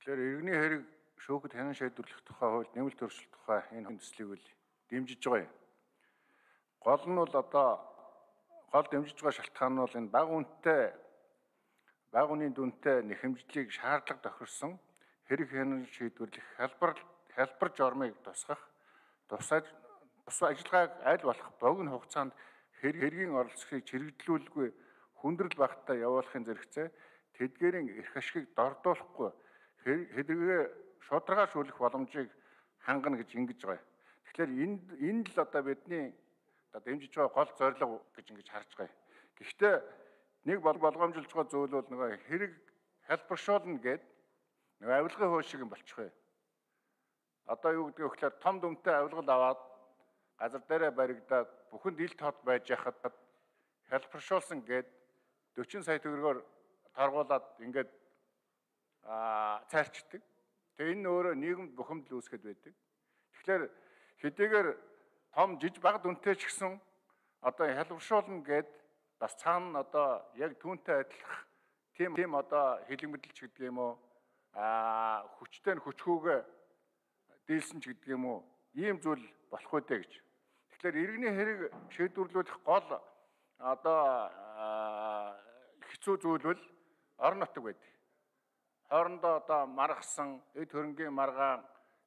Тэгэхээр иргэний хэрэг шүүхэд хянан шийдвэрлэх тухай хууль, нэмэлт өөрчлөлт тухай энэ хүндэслийг үл дэмжиж байгаа юм. Гол нь бол гол дэмжиж байгаа шалтгаан нь бол энэ бага үнийн дүнтэй нэхэмжлийг шаардлага тохирсон хэрэг хянан шийдвэрлэх хялбар жормыг тусгах, тус ажиллагааг аль болох богино хугацаанд хэргийн оролцогийг чирэгдлүүлгүй хүндрэл багтаа явуулахын зэрэгцээ тэдгээрийн эрх ашигыг дордуулахгүй хэдийгээр шударгаашүүлэх боломжийг хангана гэж ингэж байгаа. Тэгэхээр энэ л одоо бидний дэмжиж байгаа гол зорилго гэж ингэж харж байгаа. Гэхдээ нэг болгоомжилж байгаа зүйл бол нөгөө хэрэг хэлбэршүүлнэ гэд нөгөө авилгын хууль шиг юм болчих вэ. Одоо юу гэдэг вэ гэхээр том дүнтэй авилгал аваад газар дээрээ баригдаад бүхэнд ил тод байж яхад хэлбэршүүлсэн гэд 40 сая төгрөгөөр торгуулад ингээд цайрчдаг. Тэгээ энэ өөрөө нийгэмд бухимдал үүсгэж байдаг. Тэгэхээр хэдийгээр том бага дүнтэй ч гэсэн одоо хэлбэршүүлнэ гэд бас цаана одоо яг түүнтэй адилах тийм одоо хэлэг мэдлэлч гэдэг юм уу хүчтэй нь хүчгүйгээ дийлсэн ч гэдэг юм уу ийм зүйл болох үедээ гэж. Тэгэхээр иргэний хэрэг шийдвэрлэх гол одоо хэцүү зүйл бол орон нутаг байдаг. Хоорондоо одоо маргасан эд хөрөнгийн маргаан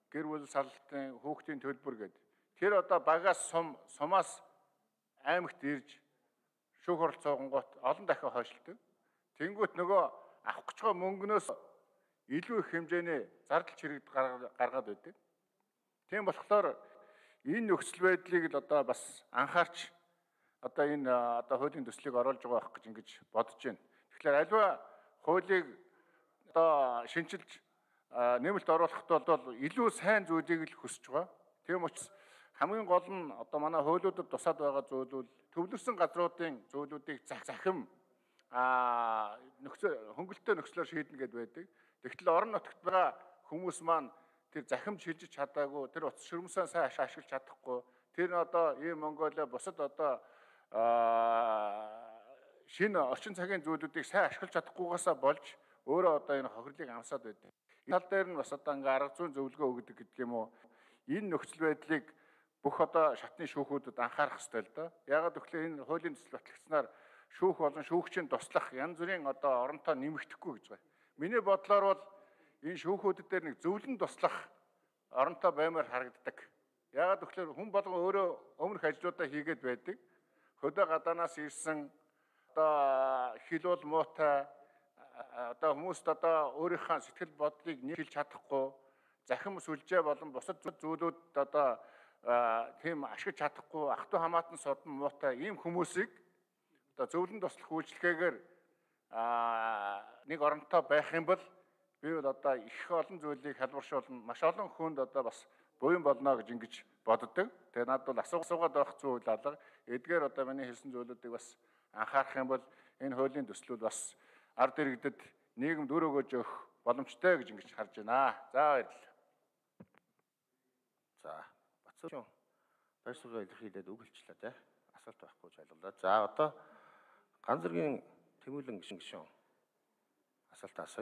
гэр бүл саллтын хүүхдийн төлбөр гэдэг. Тэр одоо багаас сумаас аймагт ирж шүүх хурал цуугангууд олон дахин хойшлдог. Тэнгүүт нөгөө авах гэж байгаа мөнгнөөс илүү их хэмжээний зардал чирэгд гаргаад байдаг. Тийм болохоор энэ нөхцөл байдлыг л одоо бас анхаарч одоо энэ одоо хуулийн төслийг оруулж байгаа байх гэж ингэж бодож байна. Тэгэхээр альва хуулийг одоо шинжилж нэмэлт оруулахад бол илүү сайн зүйлийг л хүсэж байгаа. Тийм учраас хамгийн гол нь одоо манай хуулиудад тусаад байгаа зүйл бол төвлөрсөн газруудын зүйлүүдийг захим хөнгөлөлтөө нөхцлөөр шийднэ гэдээ байдаг. Тэгтэл орон нутагт байгаа хүмүүс маань тэр захимд шилжиж чадаагүй, тэр утас ширмсээ сайн ашиглаж чадахгүй, тэр одоо ийм Монголиа бусад одоо шинэ орчин цагийн зүйлүүдийг сайн ашиглаж чадахгүйгаасаа болж өөрөө одоо энэ хохирлыг амсаад байдаг. Энэ тал дээр нь бас одоо ингээ арга зүйн зөвлөгөө өгдөг гэдэг юм уу? Энэ нөхцөл байдлыг бүх одоо шатны шүүхүүдэд анхаарах ёстой л доо. Яагаад гэвэл энэ хуулийн төсөл батлагдсанаар шүүх болон шүүгчийн туслах янз бүрийн одоо оронтой нэмэгдэхгүй гэж байна. Миний бодлоор бол энэ шүүхүүдэд дээр нэг зөвлөн туслах оронтой баймаар харагддаг. Яагаад гэвэл хүн болгон өөрөө өмнөх ажлуудаа хийгээд байдаг. Хөдөө гадаанаас ирсэн одоо хил бол муутай одоо хүмүүст одоо өөрийнхөө сэтгэл бодлыг нийлж чадахгүй, захим сүлжээ болон бусад зүйлүүд одоо тийм ашиглаж чадахгүй, ах トゥ хамаатан содон муутай ийм хүмүүсийг одоо зөвлөн туслах үйлчлэгээр нэг оронтой байх юм бол би бол одоо их олон зүйлийг хэлбэршүүлнэ, маш олон хүнд одоо бас буян болно гэж ингэж боддог. Тэгээ надад бол асуугаад байх зүйл алга. Эдгээр одоо миний хэлсэн зүйлүүдийг бас анхаарах юм бол энэ хуулийн төслүүд бас ард иргэдэд нийгэмд үр өгөөж өгөх боломжтой гэж ингэж харж байна. За баярлалаа. За Батцуучин байр суурийг илэрхийлээд үг хэлчлээ те. Асуулт байхгүй гэж ойлголоо. За одоо ганц зэргийн Тэмүүлэн гишүүн асуулт асууя.